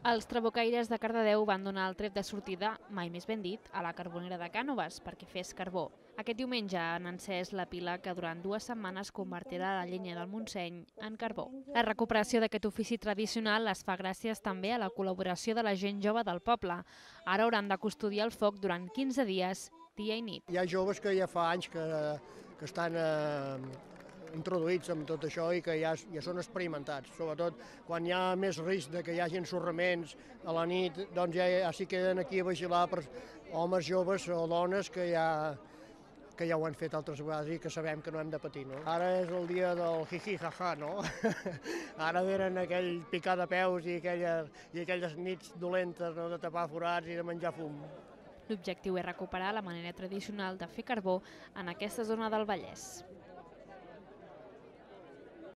Els trabucaires de Cardedeu van donar el tret de sortida, mai més ben dit, a la Carbonera de Cànoves perquè fes carbó. Aquest diumenge han encès la pila que durant 2 setmanes convertirà la llenya del Montseny en carbó. La recuperació d'aquest ofici tradicional es fa gràcies també a la col·laboració de la gent jove del poble. Ara hauran de custodiar el foc durant 15 dies, dia i nit. Hi ha joves que ja fa anys que estan introduïts amb tot això i que ja són experimentats, sobretot quan hi ha més risc de que hi hagi ensorraments a la nit, doncs ja s'hi queden aquí a vigilar per homes joves o dones que ja ho han fet altres vegades i que sabem que no hem de patir. No? Ara és el dia del jiji jaja, no? Ara venen aquell picar de peus i aquelles nits dolentes, no? De tapar forats i de menjar fum. L'objectiu és recuperar la manera tradicional de fer carbó en aquesta zona del Vallès.